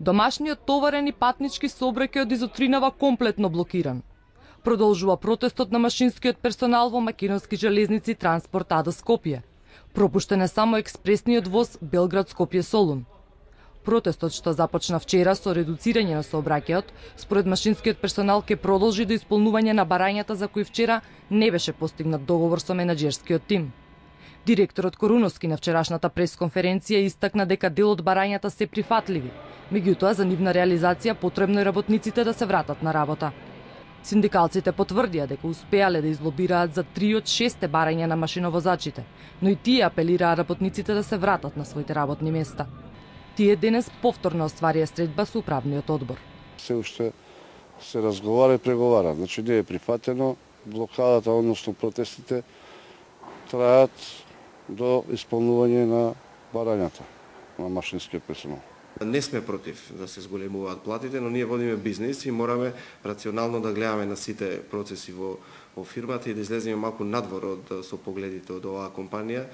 Домашниот товарен и патнички сообраќај од Изотринава комплетно блокиран. Продолжува протестот на машинскиот персонал во Македонски железници Транспорт АД Скопје. Пропуштен е само експресниот воз Белград-Скопје-Солун. Протестот што започна вчера со редуцирање на сообраќајот, според машинскиот персонал ќе продолжи до исполнување на барањата за кои вчера не беше постигнат договор со менаџерскиот тим. Директорот Коруновски на вчерашната пресконференција истакна дека дел од барањата се прифатливи, меѓутоа за нивна реализација потребно е работниците да се вратат на работа. Синдикалците потврдија дека успеале да излобираат за 3 од 6 барања на машиновозачите, но и тие апелираа работниците да се вратат на своите работни места. Тие денес повторно остварија средба со управниот одбор. Се уште се разговара и преговара, значи не е прифатено, блокадата, односно протестите траат до исполнување на барањата на машинскиот персонал. Не сме против да се зголемуваат платите, но ние водиме бизнис и мораме рационално да гледаме на сите процеси во фирмата и да излеземе малку надвор од со погледите од оваа компанија.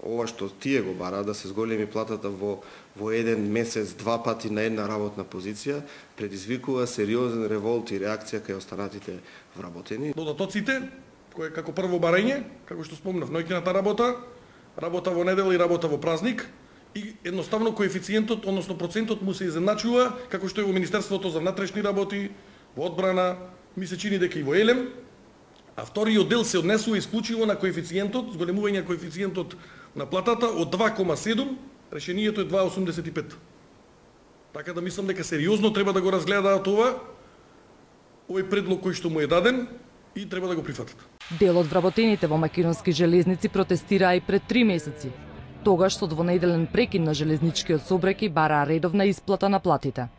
Ова што тие го бараат да се зголеми платата во еден месец, 2 пати на една работна позиција, предизвикува сериозен револт и реакција кај останатите вработени. Додатоците, кој е како прво барање, како што спомнав, ноќната работа во недела и работа во празник, и едноставно коефициентот, односно процентот му се изедначува, како што е во Министерството за внатрешни работи, во одбрана, ми се чини дека и во ЕЛЕМ, а вториот дел се однесува исклучиво на коефициентот, зголемување коефициентот на платата од 2,7, решението е 2,85. Така да мислам дека сериозно треба да го разгледаат овој предлог кој што му е даден и треба да го прифатат. Дел од вработените во Македонски железници протестираа и пред 3 месеци. Тогаш со двонеделен прекин на железничкиот сообраќај бараа редовна исплата на платите.